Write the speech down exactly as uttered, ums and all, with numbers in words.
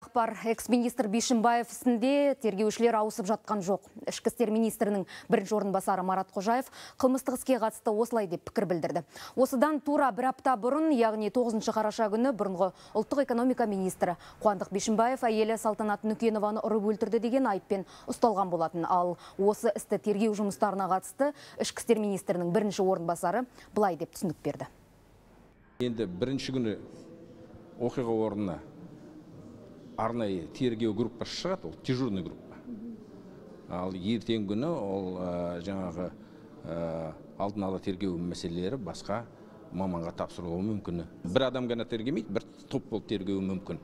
ақпар. Экс-министр Бишімбаев ісінде тергеушілер ауысып жатқан жоқ. Ішкі істер министрінің бірінші орынбасары Марат Қожаев қылмыстық іске қатысты осылай деп пікір білдірді. Осыдан тура бір апта бұрын, яғни тоғызыншы қараша күні бұрынғы ұлттық экономика министрі Қуандық Бишімбаев әйелі Салтанат Нүкенованы ұрып өлтірді деген айыппен ұсталған болатын. Ал осы істі тергеу жұмыстарына қатысты ішкі істер министрінің бірінші орынбасары былай деп түсінік берді. Енді бірінші күні оқиға орнына арнайы тергеу группасы шығады, ол дежурный группа. Ал ертеңгі күні ол жаңағы алдын ала тергеу мәселелері басқа маманға тапсырылуы мүмкін. Бір адам ғана тергемейді, бір топ болып тергеуі мүмкін.